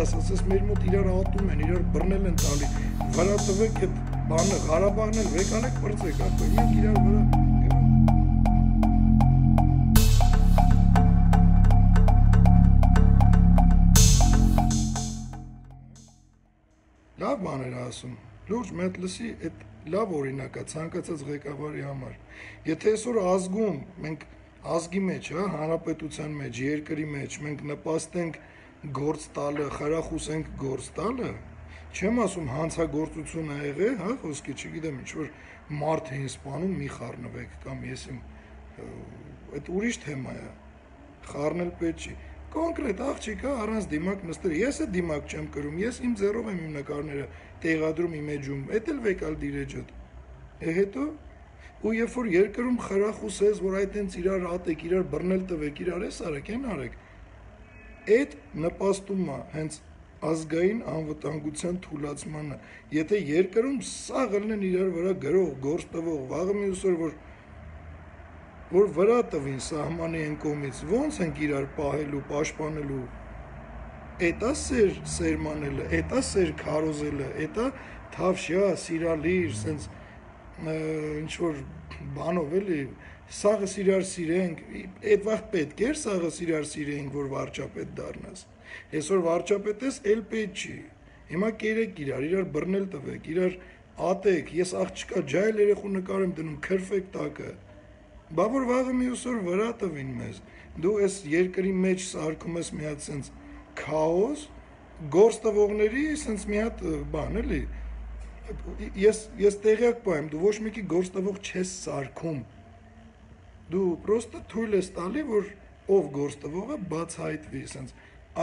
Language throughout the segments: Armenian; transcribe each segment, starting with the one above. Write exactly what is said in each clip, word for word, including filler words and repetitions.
տաս, ասես մեր մոտ իրար ատում են, իրար բռնել են տալի, վրա տվեք այդ բանը, Ղարաբաղն էլ վեկալեք պրծեք, ակո, մենք իրար վրա լավ բան էր ասում, լուրջ մետ լսի, այդ լավ օրինակ է ցանկացած ղեկավարի համար։ Եթե այսօր ազգում, մենք ազգի մեջ, հա, հանրապետության մեջ, երկրի մեջ, մենք նպաստենք գործ տալը, խրախուսենք գործ տալը, չեմ ասում հանցագործություն ա եղել, հա, խոսքի չգիտեմ, ինչ որ մարդ էին սպանում, մի խառնվեք կամ ես իմ այդ ուրիշ թեմա է, խառնել պետք չի։ Կոնկրետ աղջիկ է առանց դիմակ նստել, ես է դիմակ չեմ կրում, ես իմ ձեռով եմ իմ նկարները տեղադրում իմ էջում, էդ էլ վեկալ դիրեջդ, է հետո, ու երբ որ երկրում խրախուսես, որ այդ հենց իրար ատեք, իրար բռնել տվեք, իրար ես արեք, են արեք, այդ նպաստում է հենց ազգային անվտանգության թուլացմանը, եթե երկրում սաղ ելնեն իրար վրա գրող, գործ տվող, վաղը մյուս օր, որ որ վրա տվին սահմանի են կողմից, ոնց ենք իրար պահելու, պաշտպանելու, էտա սեր սերմանելը, էտա սեր քարոզելը, էտա թավշյա, սիրալիր, սենց ինչ-որ բանով էլի, սաղս իրար սիրենք, էդ վաղ պետք էր սաղս իրար սիրենք, որ վարչապետ դառնաս, այսօր վարչապետ ես, էլ պետք չի, հիմա կերեք իրար, իրար բռնել տվեք, իրար ատեք, ես աղջկա ջայլ երեխու նկար եմ դնում, քրֆեք տակը, բա որ վաղը մյուս օր վրա տվին մեզ, դու ես երկրի մեջ սարքում ես մի հատ սենց քաոս, գործ տվողների սենց մի հատ բան էլի, ես, ես տեղյակ պայեմ, դու ոչ մեկի գործ տվող չես սարքում, դու պրոստը թույլ ես տալի, որ ով գործ տվողը բացահայտվի, սենց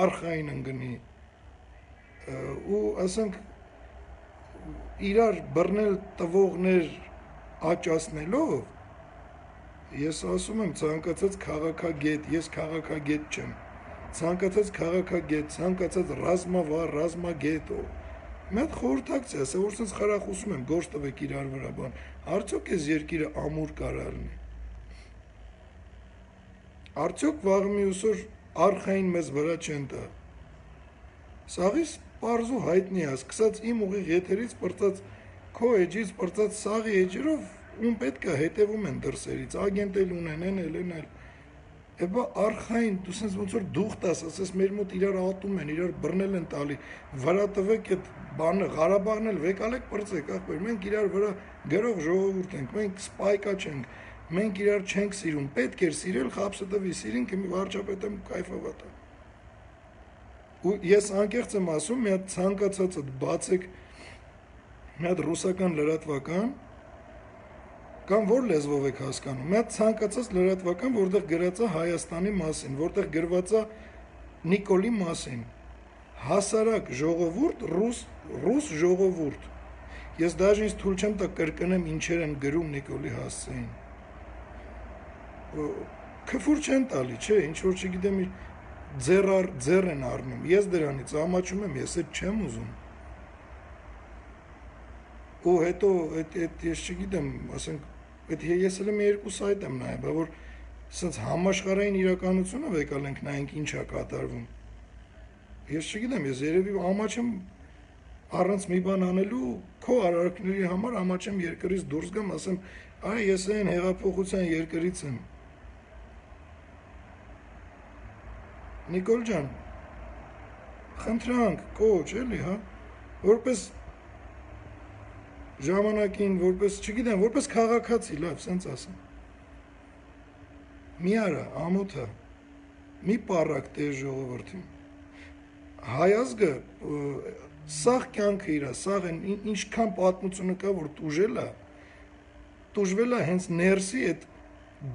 արխային ընգնի, ու ասենք իրար բռնել տվողներ աճացնելով, ես ասում եմ ցանկացած քաղաքագետ, ես քաղաքագետ չեմ, ցանկացած քաղաքագետ, ցանկացած ռազմավար, ռազմագետ, մի հատ խորհրդակցի, ասա որ sense խրախուսում եմ, գործ տվեք իրար վրա բան, արդյոք այս երկիրը ամուր կարող լինի։ Արդյոք վաղ մյուս օր արխային մեզ վրա չեն տա։ Սաղից պարզ ու հայտնի է, սկսած իմ ուղիղ եթերից պրծած, քո էջից պրծած սաղի էջերով ում պետք է հետևում են դրսերից, ագենտ էլ ունեն, են էլ, են էլ, էբա արխային, դու սենց ոնց որ դուխտ ես, ասես մեր մոտ իրար ատում են, իրար բռնել են տալի, վրա տվեք այդ բանը, Ղարաբաղն էլ վեկալեք պրծեք, ախպեր, մենք իրար վրա գրող ժողովուրդ ենք, մենք սպայկա չենք, մենք իրար չենք սիրում, պետք էր սիրել, խապսը տվի, սիրինք մի վարչապետ եմ կայֆավատ է։ Ու ես անկեղծ եմ ասում, մի հատ ցանկացածդ բացեք, մի հատ ռուսական լրատվական, կամ որ լեզվով եք հասկանում, մի հատ ցանկացած լրատվական, որտեղ գրած է Հայաստանի մասին, որտեղ գրված է Նիկոլի մասին, հասարակ ժողովուրդ, ռուս, ռուս ժողովուրդ, ես դաժե ինձ թույլ չեմ տա կրկնեմ ինչեր են գրում Նիկոլի հասցեին, քֆուր չեն տալի, չէ, ինչ որ չգիտեմ ձեռ, ձեռ են առնում, ես դրանից ամաչում եմ, ես այդ չեմ ուզում, ու հետո, ես չգիտեմ, ասենք, Այդ ես էլ մի երկու սայթ եմ նայել, բա որ սենց համաշխարհային իրականությունը վեկալենք նայենք ինչ է կատարվում։ Ես չգիտեմ, ես երևի ամաչեմ առանց մի բան անելու, քո արարքների համար ամաչեմ երկրից դուրս գամ, ասեմ, այ ես այն հեղափոխության երկրից եմ։ Նիկոլ ջան, խնդրանք, կոչ, էլի, հա, որպես ժամանակին, որպես, չգիտեմ, որպես քաղաքացի, լավ, սենց ասեմ։ Մի արա, ամոթա, մի պարակ տեր ժողովրդին։ Հայազգը, սաղ կյանքը իրա, սաղ են, ինչքան պատմությունը կա, որ տուժել է, տուժվել է հենց ներսի այդ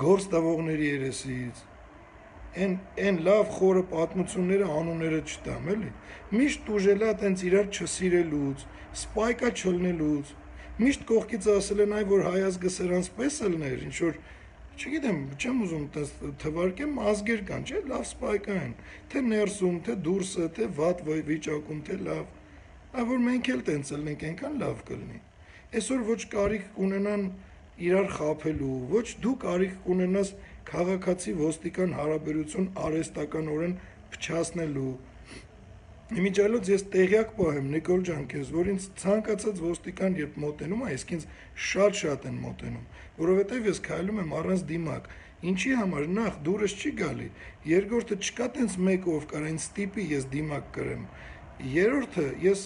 գործ տվողների երեսից, են լավ խորը պատմությունները անունները չտամ, էլի, միշտ տուժել է տենց իրար չսիրելուց, սպայկա չլնելուց, միշտ կողքից ասել են այ, որ հայազգը սրանց պես ելներ, ինչ-որ, չգիտեմ, չեմ ուզում թվարկեմ, ազգեր կան, չէ, լավ սպայկա են, թե ներսում, թե դուրսը, թե վատ վիճակում, թե լավ, այ որ մենք էլ տենց ելնենք, ենքան լավ կլնի, այսօր ոչ կարիք կունենան իրար խափելու, ոչ դու կարիք կունենաս քաղաքացի ոստիկան հարաբերություն արհեստականորեն փչացնելու, Իմիջիայլոց ես տեղյակ պահեմ Նիկոլ ջան քեզ, որ ինձ ցանկացած ոստիկան երբ մոտենում է, իսկ ինձ շատ-շատ են մոտենում, որովհետև ես քայլում եմ առանց դիմակ։ Ինչի համար նախ դուրս չի գալի, երկրորդը չկա տենց մեկը ով կարող ինձ ստիպի ես դիմակ կրեմ։ Երրորդը ես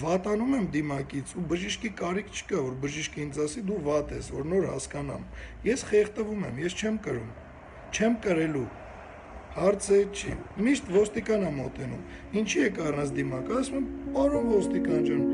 վատանում եմ դիմակից ու բժիշկի կարիք չկա, որ բժիշկը ինձ ասի դու վատ ես, որ նոր հասկանամ։ Ես խեղդվում եմ, ես չեմ կրում, չեմ կրելու։ Հարցը չի։ Միշտ ոստիկան է մոտենում։ Ինչի եք առանց դիմակ, ասում եմ, պարոն ոստիկան ջան,